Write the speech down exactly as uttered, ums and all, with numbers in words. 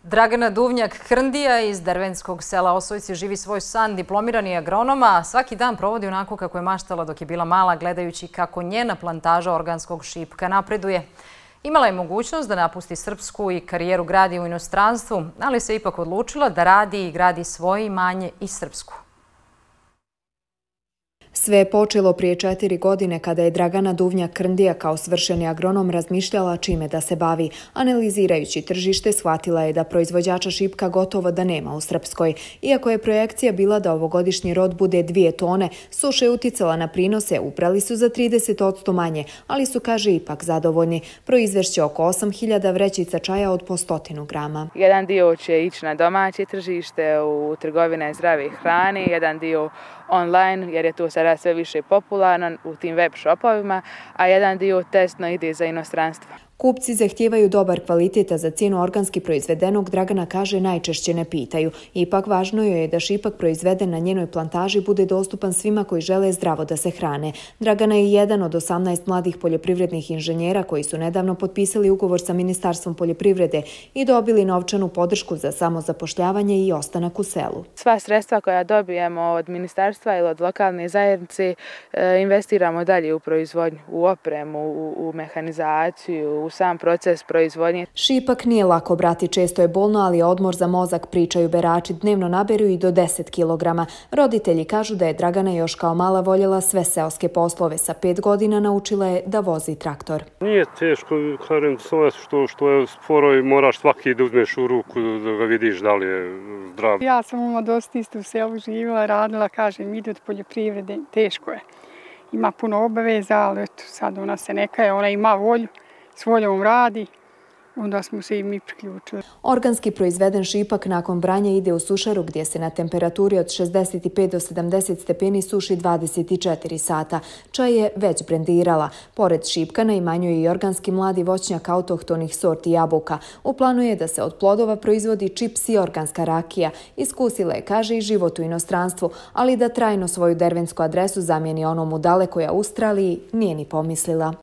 Dragana Duvnjak-Krndija iz Dervenskog sela Osojci živi svoj san, diplomirani agronoma, a svaki dan provodi onako kako je maštala dok je bila mala, gledajući kako njena plantaža organskog šipka napreduje. Imala je mogućnost da napusti srpsku i karijeru gradi u inostranstvu, ali se ipak odlučila da radi i gradi svoje imanje i srpsku. Sve je počelo prije četiri godine kada je Dragana Duvnjak-Krndija kao svršeni agronom razmišljala čime da se bavi. Analizirajući tržište, shvatila je da proizvođača šipka gotovo da nema u Srpskoj. Iako je projekcija bila da ovogodišnji rod bude dvije tone, suša je uticala na prinose, ubrali su za trideset posto manje, ali su, kaže, ipak zadovoljni. Proizvešće oko osam hiljada vrećica čaja od po stotinu grama. Jedan dio će ići na domaće tržište, u trgovine zdrave hrane, jedan dio online, jer je to sada sve više popularno u tim web shopovima, a jedan dio testno ide za inostranstvo. Kupci zahtijevaju dobar kvalitet, a za cijenu organski proizvedenog Dragana, kaže, najčešće ne pitaju. Ipak važno joj je da šipak proizveden na njenoj plantaži bude dostupan svima koji žele zdravo da se hrane. Dragana je jedan od osamnaest mladih poljoprivrednih inženjera koji su nedavno potpisali ugovor sa Ministarstvom poljoprivrede i dobili novčanu podršku za samozapošljavanje i ostanak u selu. Sva sredstva koja dobijemo od ministarstva ili od lokalne zajednice investiramo dalje u proizvodnju, u opremu, u, u mehanizaciju, u sam proces proizvodnje. Šipak nije lako brati, često je bolno, ali je odmor za mozak, pričaju berači. Dnevno naberu i do deset kilograma. Roditelji kažu da je Dragana još kao mala voljela sve seoske poslove. Sa pet godina naučila je da vozi traktor. Nije teško, kažem, što, što je sporo i moraš svaki da uzmeš u ruku da ga vidiš da li je zdrav. Ja sam uma dosta isto u selu živjela, radila, kažem, ide od poljoprivrede, teško je. Ima puno obaveza, ali eto, sad ona se neka je, ona ima volju, s voljom radi, onda smo se i mi priključili. Organski proizveden šipak nakon branja ide u sušaru gdje se na temperaturi od šezdeset pet do sedamdeset stepeni suši dvadeset četiri sata. Čaj je već brendirala. Pored šipka na imanju je i organski mladi voćnjak autohtonih sorti jabuka. U planu je da se od plodova proizvodi čips i organska rakija. Iskusila je, kaže, i život u inostranstvu, ali da trajno svoju dervensku adresu zamijeni onom u dalekoj Australiji nije ni pomislila.